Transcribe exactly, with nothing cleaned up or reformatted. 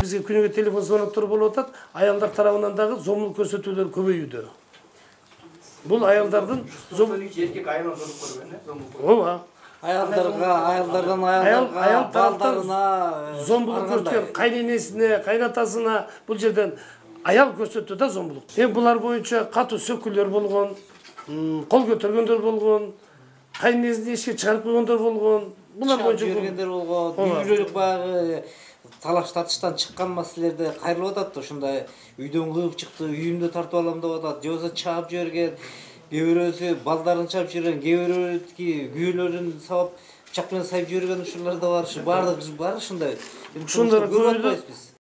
бизге күнүгө телефон звоноктор болуп атат, аялдар тарабынан дагы зомбулук көрсөтүүлөр көбөйүүдө. Бул аялдардын эркек айынан зомбулук көргөн, э? Зомбулук. Ооба. Аялдарга, аялдардан аялдарга, аял балдарына зомбулук көрсөткөн кайненесине, кайнатасына бул жерден аял көрсөттү да зомбулук. Эми булар боюнча катуу сөкүлөр болгон, кол көтөргөндөр болгон, кайненесин эшикке чыгарып койгондор болгон. Булар боюнча жүргөндөр болгон, үй бүлөлүк баягы талаш татыштан чыккан маселелерде кайрылып атат да, ушундай үйдөн кыйып чыкты, үйүмдү тартып алам деп атат, же болбосо чаап жиберген, кээ бирөөсү балдарын чаап жиберген, кээ бирөөсү күйөөлөрүн сабап пычак менен сайып жиберген ушулар да бар, баардыгы бар ушундай. Ушундарды көрүп атпайбыз биз.